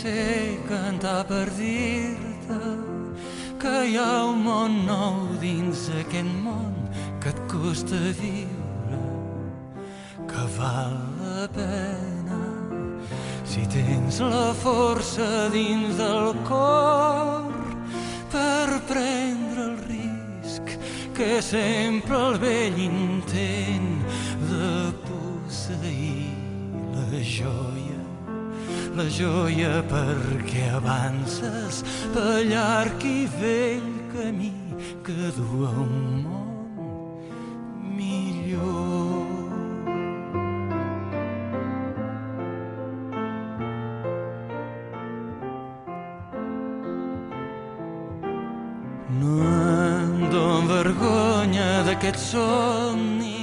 sé cantar per dir-te que hi ha un món nou dins aquest món que et costa viure, que val la pena si tens la força dins del cor per prendre el risc que sempre el vell intent de posseir la joia perquè avances pel llarg i vell camí que du a un món millor. No em dono vergonya d'aquests somnis.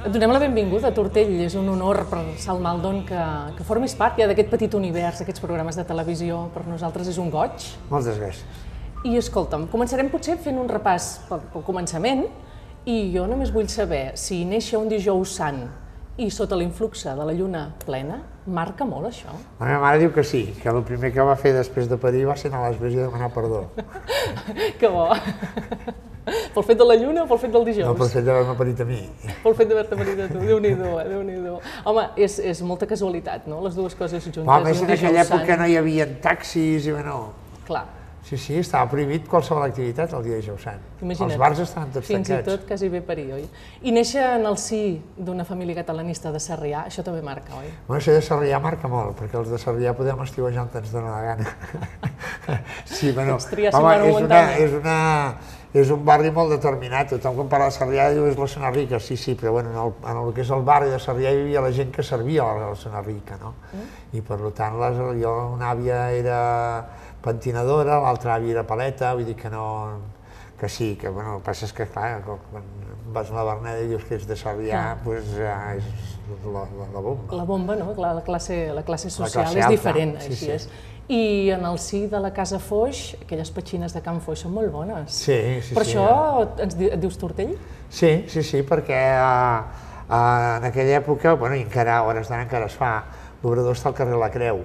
Et donem la benvinguda a Tortell, és un honor per Salt Maldon que formis part ja d'aquest petit univers, d'aquests programes de televisió. Per nosaltres és un goig. Moltes gràcies. I escolta'm, començarem potser fent un repàs pel començament i jo només vull saber si néixer un dijous sant i sota l'influxe de la lluna plena, marca molt això? La meva mare diu que sí, que el primer que va fer després de parir va ser anar a l'església a demanar perdó. Que bo! Pel fet de la lluna o pel fet del dijous? No, pel fet d'haver-me parit a mi. Pel fet d'haver-te parit a tu, Déu-n'hi-do, Déu-n'hi-do. Home, és molta casualitat, no?, les dues coses juntes. Home, més en aquella època no hi havia taxis i bueno... Clar. Sí, estava prohibit qualsevol activitat el dia de dijous sant. Imagina't. Els bars estaven tots tancats. Fins i tot quasi bé parir, oi? I néixer en el si d'una família catalanista de Sarrià, això també marca, oi? Bueno, això de Sarrià marca molt, perquè els de Sarrià podem estiuejar on ens dona la gana. Sí, bueno, home, és un barri molt determinat. Tothom quan parla de Sarrià diu és la zona rica, sí, però bueno, en el que és el barri de Sarrià hi havia la gent que servia a la zona rica, no? I per tant, una àvia era pentinadora, l'altra àvia era paleta, vull dir que no... Que sí, que bueno, el que passa és que, clar, quan vas a la Verneda i dius que ets de Sarrià, doncs és la bomba. La bomba, no? La classe social és diferent, així és. I en el si de la Casa Foix, aquelles petxines de Can Foix són molt bones. Sí. Per això et dius Tortell? Sí, perquè en aquella època, bueno, i encara a hores d'ara encara es fa, l'obrador està al carrer La Creu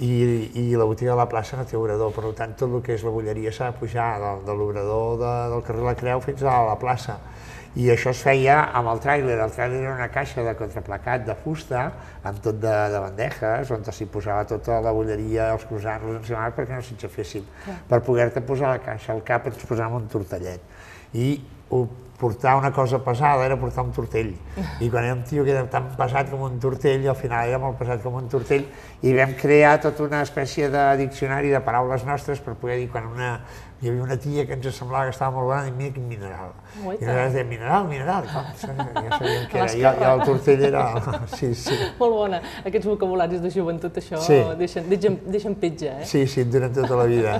i la botiga de la plaça no té obrador, per tant tot el que és la bolleria s'ha de pujar de l'obrador del carrer La Creu fins a la plaça. I això es feia amb el tràiler. El tràiler era una caixa de contraplacat de fusta amb tot de bandejes on s'hi posava tota la bolleria, els croissants, els enciamats perquè no s'enxafessin. Per poder-te posar la caixa al cap ens posàvem un tortellet. I portar una cosa pesada era portar un tortell. I quan era un tio que era tan pesat com un tortell, al final era molt pesat com un tortell, i vam crear tota una espècie de diccionari de paraules nostres per poder dir quan hi havia una tia que ens semblava que estava molt bona, i mira quin mineral. I nosaltres dèiem, mineral, ja sabíem què era, i el tortell era... Sí. Molt bona. Aquests vocabularis de joventut, això, deixen petja, eh? Sí, durant tota la vida.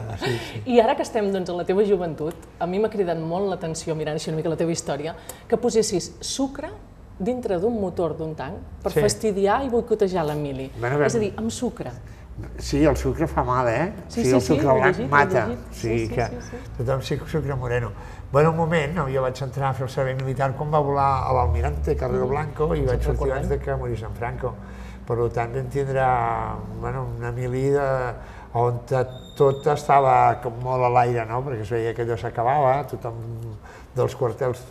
I ara que estem en la teva joventut, a mi m'ha cridat molt l'atenció, mirant així una mica la teva història, que posessis sucre dintre d'un motor d'un tanc per fastidiar i boicotejar l'Emili. És a dir, amb sucre. Sí, el sucre fa mal, eh? Sí, el sucre blanc mata. Sí. Tothom sí que sucre moreno. Bueno, un moment, jo vaig entrar a fer el servei militar quan va volar a l'Almirante Carrero Blanco i vaig sortir abans que morís en Franco. Per tant, vam tindre una Emili on tot estava molt a l'aire, perquè es veia que allò s'acabava, tothom dels quartels,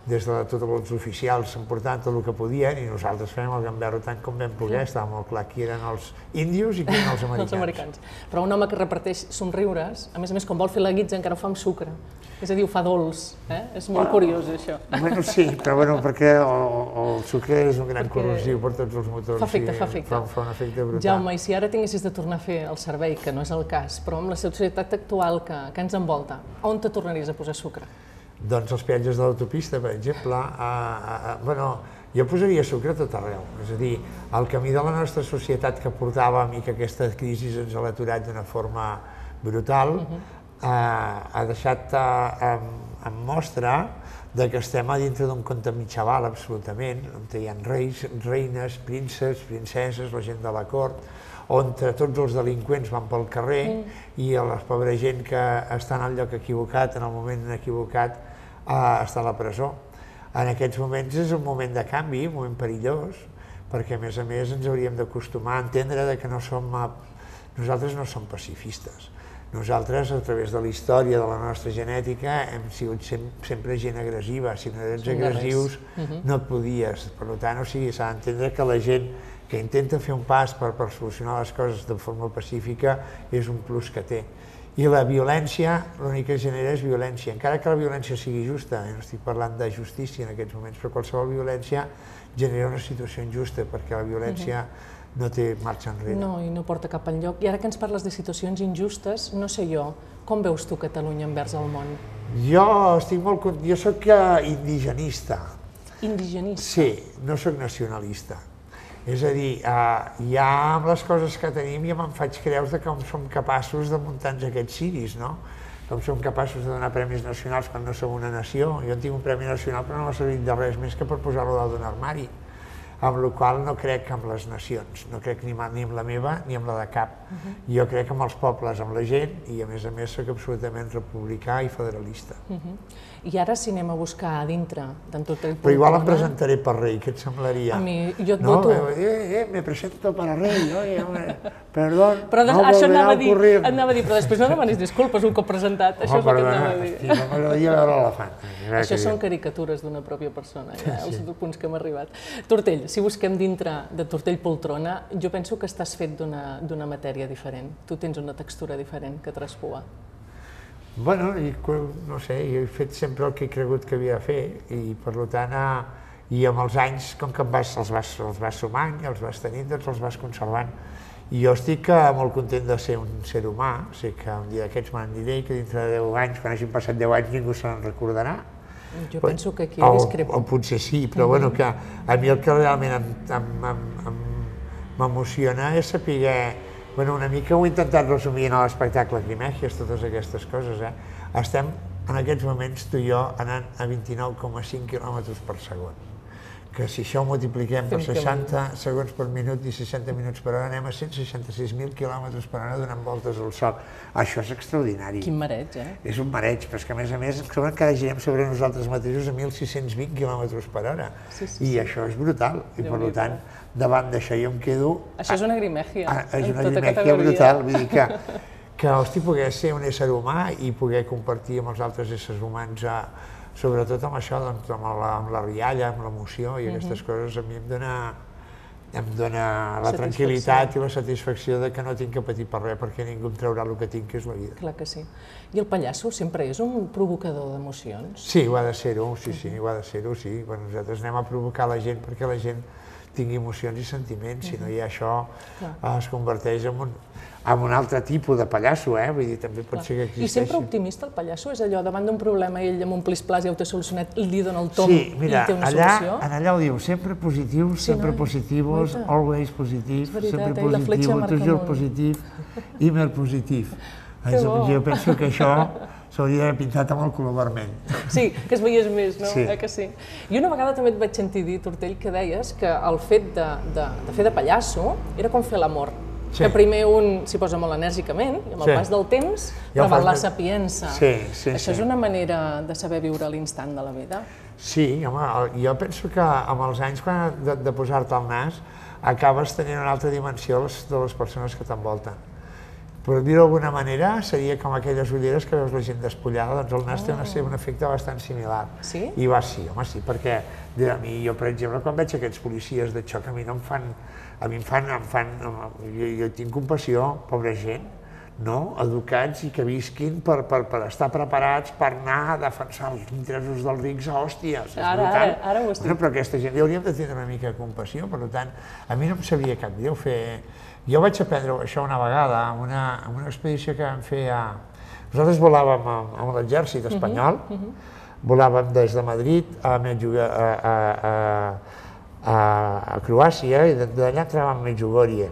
des de tots els oficials s'emportaven tot el que podien i nosaltres fèiem el gamberro tant com vam poder, estava molt clar qui eren els índios i qui eren els americans. Però un home que reparteix somriures, a més, quan vol fer la guitza encara ho fa amb sucre, és a dir, ho fa dolç, és molt curiós això. Bueno, sí, però perquè el sucre és un gran corrosiu per tots els motors. Fa efecte. Fa un efecte brutal. Jaume, i si ara tinguessis de tornar a fer el servei, que no és el cas, però amb la societat actual que ens envolta, on te tornaries a posar sucre? Doncs els peatges de l'autopista, per exemple, jo posaria sucre a tot arreu. És a dir, el camí de la nostra societat que portàvem i que aquesta crisi ens ha aturat d'una forma brutal, ha deixat en mostra que estem a dintre d'un conte mitjaval, absolutament, on hi ha reis, reines, prínceps, princeses, la gent de la cort, on tots els delinqüents van pel carrer i la pobra gent que està en el lloc equivocat, en el moment equivocat, està a la presó. En aquests moments és un moment de canvi, un moment perillós, perquè a més ens hauríem d'acostumar a entendre que nosaltres no som pacifistes. Nosaltres, a través de la història de la nostra genètica, hem sigut sempre gent agressiva. Si no ets agressius, no et podies. Per tant, s'ha d'entendre que la gent que intenta fer un pas per solucionar les coses de forma pacífica és un plus que té. I la violència, l'únic que genera és violència. Encara que la violència sigui justa, no estic parlant de justícia en aquests moments, però qualsevol violència genera una situació injusta, perquè la violència no té marxa enrere. No, i no porta cap enlloc. I ara que ens parles de situacions injustes, no sé jo, com veus tu Catalunya envers el món? Jo soc indigenista. Indigenista? Sí, no soc nacionalista. És a dir, ja amb les coses que tenim ja me'n faig creus de com som capaços de muntar-nos aquests ciris, no? Com som capaços de donar premis nacionals quan no som una nació. Jo en tinc un premi nacional però no m'ha servit de res més que per posar-lo dalt d'un armari. Amb la qual cosa no crec en les nacions, no crec ni amb la meva ni amb la de cap. Jo crec en els pobles, amb la gent, i a més soc absolutament republicà i federalista. I ara si anem a buscar a dintre d'en Tortell Poltrona... Però igual em presentaré per rei, què et semblaria? A mi, jo et voto... Me presento para rei, perdón, però no volverà a ocurrir. Anava a dir, però després no demanis disculpes un cop presentat, això és el que anava a dir. No m'agradaria veure l'elefant. Això són caricatures d'una pròpia persona, els punts que hem arribat. Tortell, si busquem dintre de Tortell Poltrona, jo penso que estàs fet d'una matèria diferent. Tu tens una textura diferent que traspua. Bueno, no sé, jo he fet sempre el que he cregut que havia de fer i per tant, i amb els anys, com que els vas sumant i els vas tenint, doncs els vas conservant. I jo estic molt content de ser un ser humà, sé que un dia d'aquests me'n diré que dintre de 10 anys, quan hagin passat 10 anys, ningú se'n recordarà. Jo penso que aquí discrepo. O potser sí, però bueno, que a mi el que realment m'emociona és saber. Bueno, una mica ho he intentat resumir en l'espectacle Grimègies, totes aquestes coses. Estem en aquests moments tu i jo anant a 29,5 km per segon. Que si això ho multipliquem per 60 segons per minut i 60 minuts per hora, anem a 166.000 km per hora donant voltes al sol. Això és extraordinari. Quin mareig, És un mareig, però és que a més ens creuen que ara girem sobre nosaltres mateixos a 1.620 km per hora. I això és brutal. I per tant, davant d'això jo em quedo... Això és una grimègia. És una grimègia brutal. Vull dir que poder ser un ésser humà i poder compartir amb els altres éssers humans sobretot amb això, amb la rialla, amb l'emoció i aquestes coses, a mi em dona la tranquil·litat i la satisfacció de que no tinc que patir per res, perquè ningú em traurà el que tinc, que és la vida. Clar que sí. I el pallasso sempre és un provocador d'emocions? Sí, ho ha de ser-ho, sí, ho ha de ser-ho, sí. Nosaltres anem a provocar la gent perquè la gent tingui emocions i sentiments, si no hi ha això, es converteix en un altre tipus de pallasso, vull dir, també pot ser que existeixi. I sempre optimista el pallasso? És allò, davant d'un problema ell amb un plis-plas ja ho té solucionat, li dona el tom i té una solució? Sí, mira, allà ho diu, sempre positiu, sempre positivos, always positiu, sempre positiu, toujours positiu, immer positiu. Jo penso que això s'hauria d'haver pintat amb el color vermell. Sí, que es veiés més, no? Que sí. I una vegada també et vaig sentir dir, Tortell, que deies que el fet de fer de pallasso era com fer l'amor. Que primer un s'hi posa molt enèrgicament i amb el pas del temps preval la sapiença. Això és una manera de saber viure l'instant de la vida? Sí, home, jo penso que amb els anys de posar-te al nas acabes tenint una altra dimensió de les persones que t'envolten. Per dir-ho d'alguna manera, seria com aquelles ulleres que veus la gent despullada, doncs el nas té un efecte bastant similar. Sí? I va, sí, home, sí, perquè a mi, jo, per exemple, quan veig aquests policies de xoc, a mi no em fan... Jo tinc compassió, pobra gent, educats i que visquin per estar preparats per anar a defensar els interessos dels rics a hòsties. Ara ho estic. Però aquesta gent li hauríem de tindre una mica de compassió, per tant, a mi no em sabia cap greu fer... Jo vaig aprendre això una vegada, en una expedició que vam fer a... Nosaltres volàvem amb l'exèrcit espanyol, volàvem des de Madrid a Croàcia i d'allà entràvem a Medjugorje.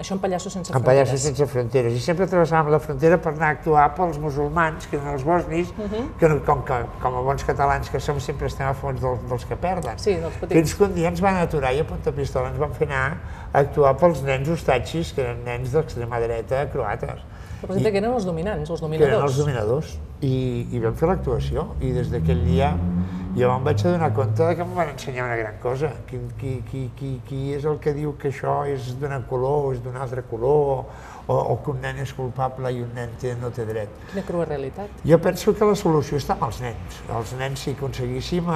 Això en Pallassos sense Fronteres. En Pallassos sense Fronteres. I sempre travessàvem la frontera per anar a actuar pels musulmans, que eren els bosnis, que com a bons catalans que som sempre estem a fons dels que perden. Sí, dels petits. Fins que un dia ens van aturar i a punta pistola ens van fer anar a actuar pels nens ostatxis, que eren nens d'extrema dreta croates. Representa que eren els dominants, els dominadors. Que eren els dominadors. I vam fer l'actuació, i des d'aquell dia I em vaig adonar compte que em van ensenyar una gran cosa. Qui és el que diu que això és d'un color o és d'un altre color, o que un nen és culpable i un nen no té dret. Quina crua realitat. Jo penso que la solució està amb els nens. Els nens, si aconseguíssim,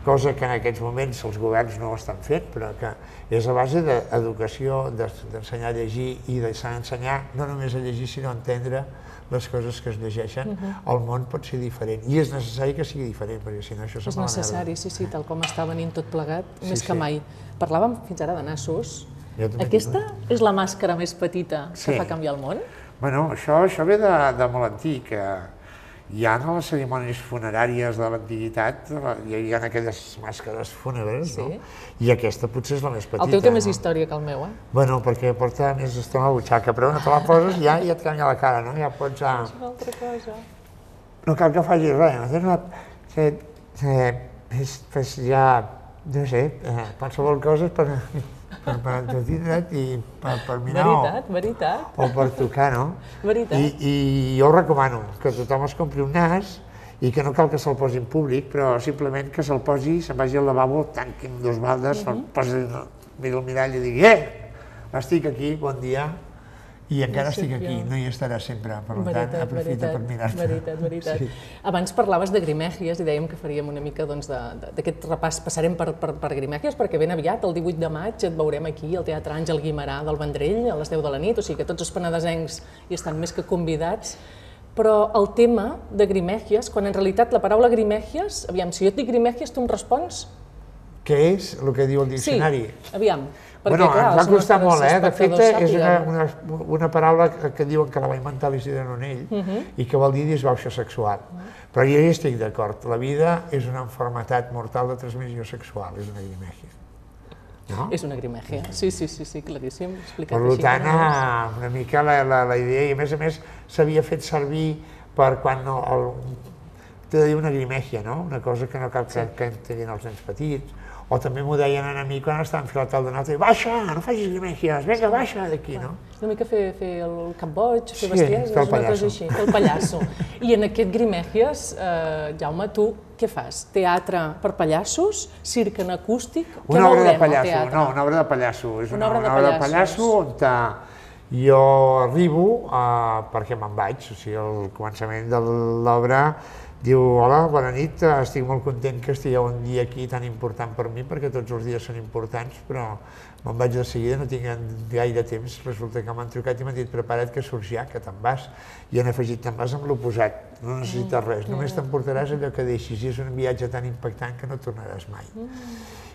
cosa que en aquests moments els governs no ho estan fent, però que és a base d'educació, d'ensenyar a llegir i d'ensenyar no només a llegir, sinó a entendre les coses que es llegeixen, el món pot ser diferent. I és necessari que sigui diferent, perquè si no això se'n va a la merda. És necessari, sí, tal com està venint tot plegat, més que mai. Parlàvem fins ara de nassos. Aquesta és la màscara més petita que fa canviar el món? Bueno, això ve de molt antic. Ja en les cerimònies funeràries de l'antiguitat hi ha aquelles màscares fúnebres, no? I aquesta potser és la més petita. El teu té més història que el meu, eh? Bueno, perquè porta més estona a la butxaca, però no te la poses i ja et canvia la cara, no? Ja pots... És una altra cosa. No cal que facis res, fes ja, no sé, qualsevol cosa per entretindre't i per mirar o per tocar, no? Veritat. I jo recomano que tothom es compri un nas i que no cal que se'l posi en públic, però simplement que se'l posi, se'n vagi al lavabo, tanqui amb 2 baldes, se'l posi, mira el mirall i digui estic aquí, bon dia, i encara estic aquí, no hi estarà sempre, per tant, aprofita per mirar-te. Veritat. Abans parlaves de Grimègies i dèiem que faríem una mica d'aquest repàs, passarem per Grimègies, perquè ben aviat, el 18 de maig, et veurem aquí al Teatre Àngel Guimerà del Vendrell, a les 10 de la nit, o sigui que tots els penedesencs hi estan més que convidats. Però el tema de Grimègies, quan en realitat la paraula Grimègies, aviam, si jo et dic Grimègies, tu em respons? Què és el que diu el diccionari? Sí, aviam. Bueno, ens va costar molt, de fet és una paraula que diuen que la va inventar l'Isidre Nonell i que vol dir disbauxa sexual. Però jo hi estic d'acord, la vida és una malaltia mortal de transmissió sexual, és una grimègia. És una grimègia, sí, claríssim. Per tant, una mica la idea, i a més s'havia fet servir per quan t'he de dir una grimègia, una cosa que no cal que entenguin els nens petits. O també m'ho deien a mi quan estava enfilat al donat, baixa, no facis grimègies, vinga, baixa d'aquí, no? És una mica fer el cap boig, fer bestieses, una cosa així, el pallasso. I en aquest Grimègies, Jaume, tu què fas? Teatre per pallassos? Circ en acústic? Una obra de pallasso, no, una obra de pallasso. És una obra de pallasso on jo arribo, perquè me'n vaig, o sigui, al començament de l'obra diu, hola, bona nit, estic molt content que estigueu un dia aquí tan important per mi, perquè tots els dies són importants, però me'n vaig de seguida, no tinc gaire temps, resulta que m'han trucat i m'han dit, prepara't que surts ja, que te'n vas, i han afegit, te'n vas amb l'oposat, no necessites res, només t'emportaràs allò que deixis, i és un viatge tan impactant que no tornaràs mai.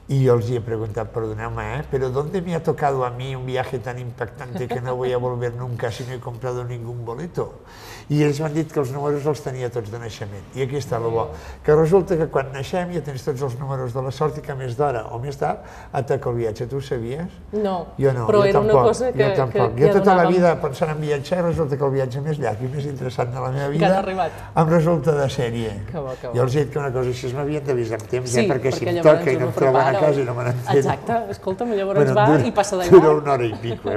Y yo les he preguntado, perdonadme, pero ¿dónde me ha tocado a mí un viaje tan impactante que no voy a volver nunca si no he comprado ningún boleto? I ells m'han dit que els números els tenia tots de naixement. I aquí està el bo, que resulta que quan naixem ja tens tots els números de la sort i que més d'hora o més tard et toca el viatge. Tu ho sabies? No, jo no, però jo era tampoc, una cosa que jo tota la vida pensant en viatjar, resulta que el viatge més llarg i més interessant de la meva vida em resulta de sèrie. Jo els he dit que una cosa així m'havien d'avisar amb temps, perquè si em toca i no em troben a casa i no me n'entén. Exacte, escolta'm, llavors va i passa d'igual. Dura una hora i pico.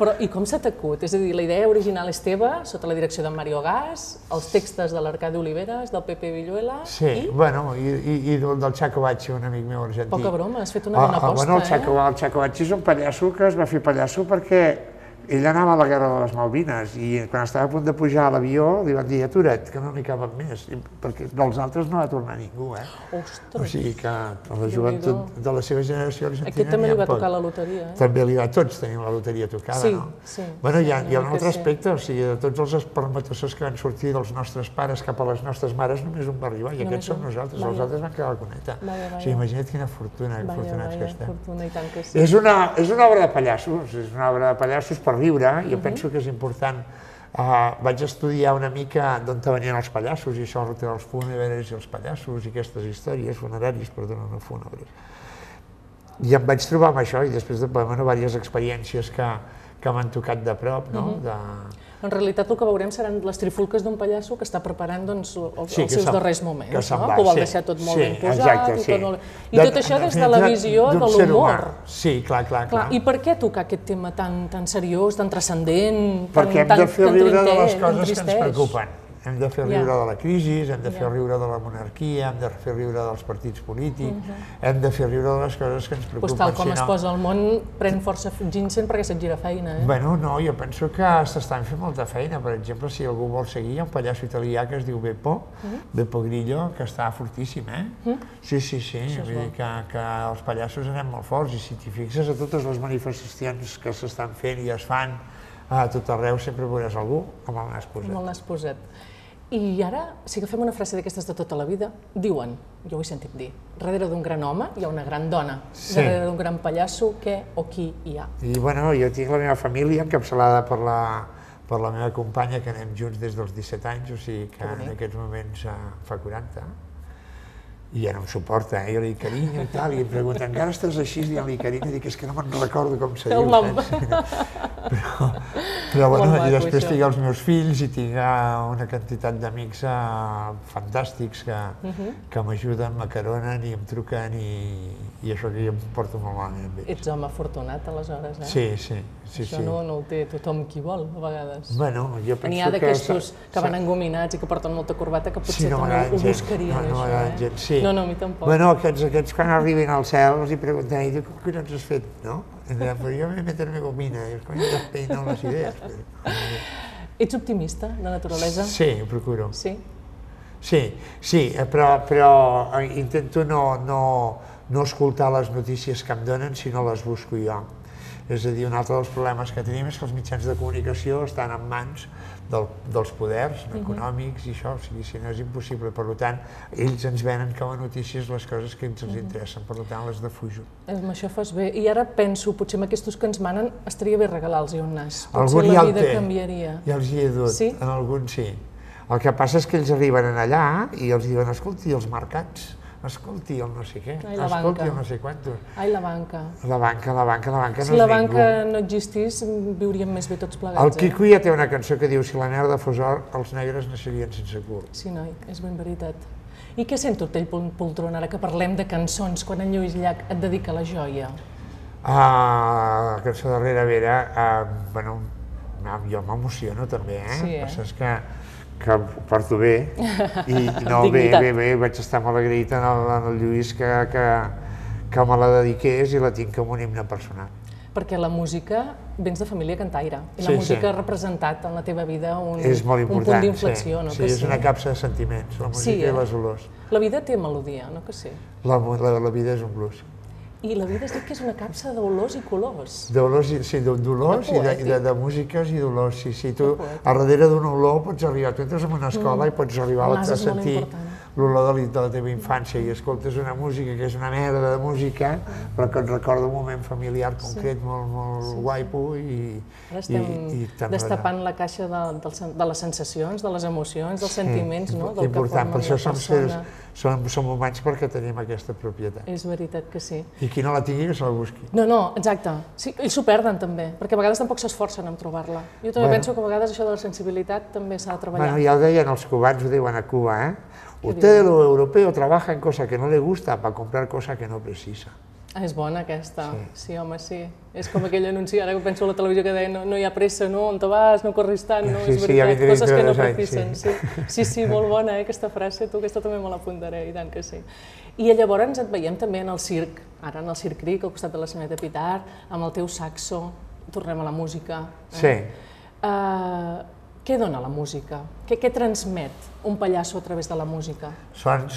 Però i com s'ha t'acut? És a dir, la idea original és teva, sota la direcció d'en Mario Gas, els textos de l'Arcadi Oliveres, del Pepe Villuela... Sí, bueno, i del Chaco Bacci, un amic meu argentí. Poca broma, has fet una bona aposta, eh? El Chaco Bacci és un pallasso que es va fer pallasso perquè ell anava a la guerra de les Malvines i quan estava a punt de pujar a l'avió li van dir atura't, que no n'hi caben més, perquè dels altres no va tornar ningú, eh? Ostres! O sigui que a la joventut de la seva generació argentina aquest també li va tocar la loteria, eh? També li va, tots tenim la loteria tocada, no? Sí. Bueno, hi ha un altre aspecte, o sigui, de tots els espermatozoides que van sortir dels nostres pares cap a les nostres mares, només un va arribar, i aquests som nosaltres, els altres van quedar a la cuneta. O sigui, imagina't quina fortuna, afortunats que estem. És una obra de pallassos, és una obra de pallassos per riure, jo penso que és important. Vaig estudiar una mica d'on venien els pallassos, i això dels fúnebres i els pallassos i aquestes històries, funeraris, perdona, no fúnebres. I em vaig trobar amb això, i després de diverses experiències que m'han tocat de prop, no? En realitat el que veurem seran les trifulques d'un pallasso que està preparant els seus darrers moments, no? Que ho vol deixar tot molt ben posat i tot això des de la visió de l'humor. Sí, clar. I per què tocar aquest tema tan seriós, tan transcendent, tan tristès? Perquè hem de fer riure de les coses que ens preocupen. Hem de fer riure de la crisi, hem de fer riure de la monarquia, hem de fer riure dels partits polítics, hem de fer riure de les coses que ens preocupen. Doncs tal com es posa el món, pren força ginseng perquè se't gira feina, eh? Bueno, no, jo penso que s'estan fent molta feina. Per exemple, si algú vol seguir, hi ha un pallasso italià que es diu Beppo Grillo, que està fortíssim, eh? Sí, vull dir que els pallassos anem molt forts, i si t'hi fixes a totes les manifestacions que s'estan fent i es fan a tot arreu, sempre veuràs algú amb el nas posat. Amb el nas posat. I ara, si agafem una frase d'aquestes de tota la vida, diuen, jo ho he sentit dir, darrere d'un gran home hi ha una gran dona, darrere d'un gran pallasso, què o qui hi ha? I bueno, jo tinc la meva família encapçalada per la meva companya, que anem junts des dels 17 anys, o sigui que en aquests moments fa 40, i ja no em suporta, jo li dic carinyo i tal, i em pregunta, encara estàs així dient-li carinyo? I dic, és que no me'n recordo com se diu, però bueno, i després tinc els meus fills i tinc una quantitat d'amics fantàstics que m'ajuden, m'acaronen i em truquen, i això que jo em porto molt malament amb ells. Ets home afortunat, aleshores, eh? Sí. Això no ho té tothom qui vol, a vegades. Bueno, jo penso que... N'hi ha d'aquestos que van engominats i que porten molta corbata que potser també ho buscarien, això, eh? No m'agraden gens, sí. No, a mi tampoc. Bueno, aquests quan arribin al cel els hi pregunten, i diu, com que no ens has fet, no? Però jo me meterme gomina, i els coños despeinen les idees. Ets optimista, de naturalesa? Sí, ho procuro. Sí? Sí, però intento no escoltar les notícies que em donen, sinó les busco jo. És a dir, un altre dels problemes que tenim és que els mitjans de comunicació estan en mans dels poders econòmics i això, o sigui, si no és impossible. Per tant, ells ens venen com a notícies les coses que ens interessen, per tant, les defujo. Amb això fas bé. I ara penso, potser amb aquests que ens manen estaria bé regalar-los un nas. Potser la vida canviaria. Ja els hi he dut, en alguns sí. El que passa és que ells arriben allà i els diuen, escolti, els mercats, escolti el no sé què, escolti el no sé quantos. Ai, la banca. La banca no és ningú. Si la banca no existís, viuríem més bé tots plegats. El Quico ja té una cançó que diu, si la merda fos or, els negres naixerien sense cul. Sí, noi, és ben veritat. I què sent Tortell Poltron ara que parlem de cançons, quan en Lluís Llach et dedica la joia? La cançó de Rere Vera, bueno, jo m'emociono també, eh? Sí, eh? És que ho porto bé, i no, bé, vaig estar molt agraït en el Lluís que me la dediqués i la tinc com un himne personal. Perquè la música, vens de família cantaire, i la música ha representat en la teva vida un punt d'inflexió, no? Sí, és una capsa de sentiments, la música i les olors. La vida té melodia, no que sí? La vida és un blues. I la vida es diu que és una capsa d'olors i colors. D'olors, sí, d'olors i de músiques i d'olors, sí. Tu, a darrere d'una olor pots arribar, tu entres en una escola i pots arribar a sentir l'olor de la teva infància i escoltes una música que és una merda de música, però que et recorda un moment familiar concret molt guaipo i destapant la caixa de les sensacions, de les emocions, dels sentiments, no? Important, per això som humans perquè tenim aquesta propietat. És veritat que sí. I qui no la tingui que se la busqui. No, exacte. Ells s'ho perden també, perquè a vegades tampoc s'esforcen en trobar-la. Jo també penso que a vegades això de la sensibilitat també s'ha de treballar. Bueno, ja ho deien els cubans, ho diuen a Cuba, eh? Usted, lo europeo, trabaja en cosa que no le gusta para comprar cosa que no precisa. És bona aquesta, sí, home, sí. És com aquell anunci, ara que penso a la televisió que deia no hi ha pressa, no, on te vas, no corris tant, no, és veritat, coses que no precisen. Sí, molt bona aquesta frase, tu, aquesta també me l'apuntaré, i tant que sí. I llavors et veiem també en el circ, ara en el Circ Cric, al costat de la Senyoreta Pitar, amb el teu saxo, tornem a la música. Sí. Què dona la música? Què transmet un pallasso a través de la música? Els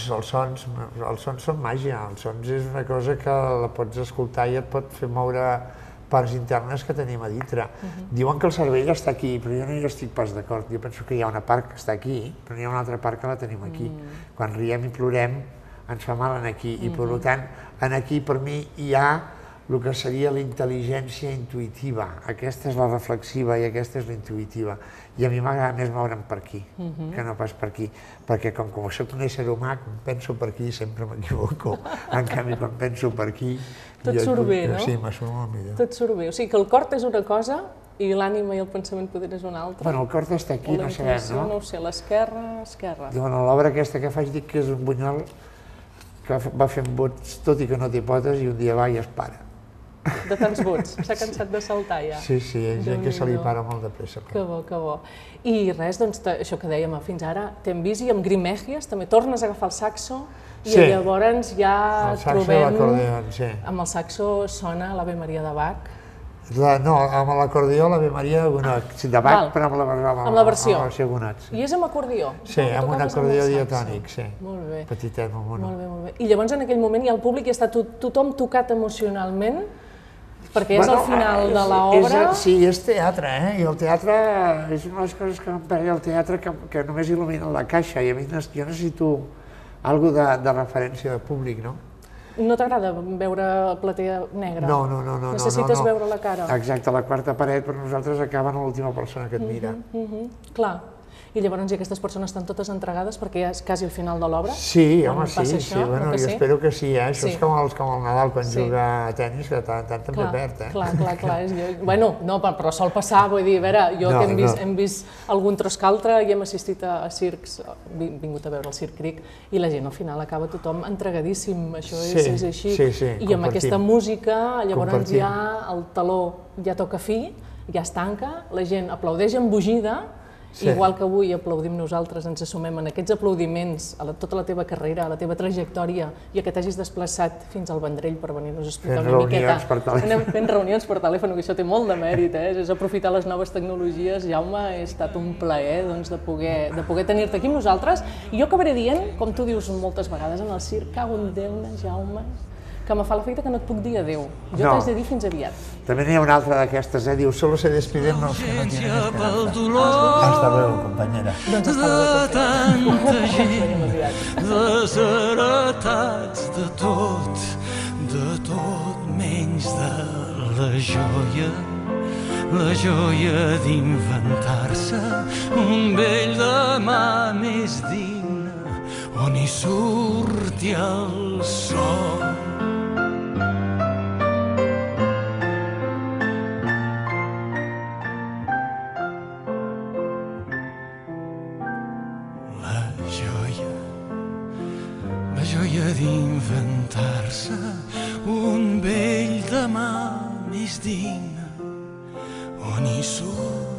sons són màgia, els sons és una cosa que la pots escoltar i et pot fer moure parts internes que tenim a dintre. Diuen que el cervell està aquí, però jo no hi estic pas d'acord. Jo penso que hi ha una part que està aquí, però n'hi ha una altra part que la tenim aquí. Quan riem i plorem ens fa mal aquí, i per tant, aquí per mi hi ha el que seria la intel·ligència intuïtiva. Aquesta és la reflexiva i aquesta és la intuïtiva. I a mi m'agrada més moure'm per aquí, que no pas per aquí. Perquè com que soc un ésser humà, quan penso per aquí sempre m'equivoco. En canvi, quan penso per aquí... Tot surt bé, no? Sí, me surt molt millor. Tot surt bé. O sigui que el cor és una cosa i l'ànima i el pensament poder és una altra. Bueno, el cor està aquí, no sabem, no? No ho sé, l'esquerra. Diuen, l'obra aquesta que faig dic que és un bunyol que va fent bots tot i que no té potes i un dia va i es para. de tants vots. S'ha cansat de saltar ja. Sí, sí, hi ha gent que se li para molt de pressa. Que bo, que bo. I res, doncs, això que dèiem fins ara, t'hem vist i amb Grimegias també tornes a agafar el saxo i llavors ja trobem... Amb el saxo sona l'Ave Maria de Bach. No, amb l'acordió l'Ave Maria de Gounod, de Bach, però amb la versió Gounod. I és amb acordió? Sí, amb un acordió diatònic, sí. Molt bé. Petitet, molt mono. Molt bé, molt bé. I llavors en aquell moment hi ha el públic i està tothom tocat emocionalment, perquè és al final de l'obra... Sí, és teatre, i el teatre és una de les coses que em pega el teatre que només il·lumina la caixa, i a mi jo necessito alguna de referència de públic, no? No t'agrada veure platea negra? No. Necessites veure la cara? Exacte, la quarta paret per nosaltres acaba en l'última persona que et mira. Clar. I llavors aquestes persones estan totes entregades perquè ja és quasi el final de l'obra? Sí, home, sí. Bueno, jo espero que sí, eh? Això és com el Nadal quan juga a tennis, que tant també perd, eh? Clar. Bueno, no, però sol passar, vull dir, a veure, jo que hem vist algun tros que altre i hem assistit a circs, hem vingut a veure el Circ Cric, i la gent al final acaba tothom entregadíssim, això és així. I amb aquesta música, llavors ja el taló ja toca fi, ja es tanca, la gent aplaudeix embogida. Igual que avui aplaudim nosaltres, ens assumem en aquests aplaudiments a tota la teva carrera, a la teva trajectòria i a que t'hagis desplaçat fins al Vendrell per venir-nos a explicar una miqueta. Anem fent reunions per telèfon, que això té molt de mèrit, és aprofitar les noves tecnologies. Jaume, ha estat un plaer de poder tenir-te aquí amb nosaltres. I jo acabaré dient, com tu dius moltes vegades en el circ, cago en Déu-ne, Jaume, que me fa l'efecte que no et puc dir adéu. Jo t'haig de dir fins aviat. També n'hi ha una altra d'aquestes, diu, solo se despiden los que no tienen esperanza. Hasta luego, compañera. Doncs hasta luego, tanta gent, desheretats de tot menys de la joia d'inventar-se un vell demà més digne on hi surti el sol. La joia d'inventar-se un vell demà més digne on hi surt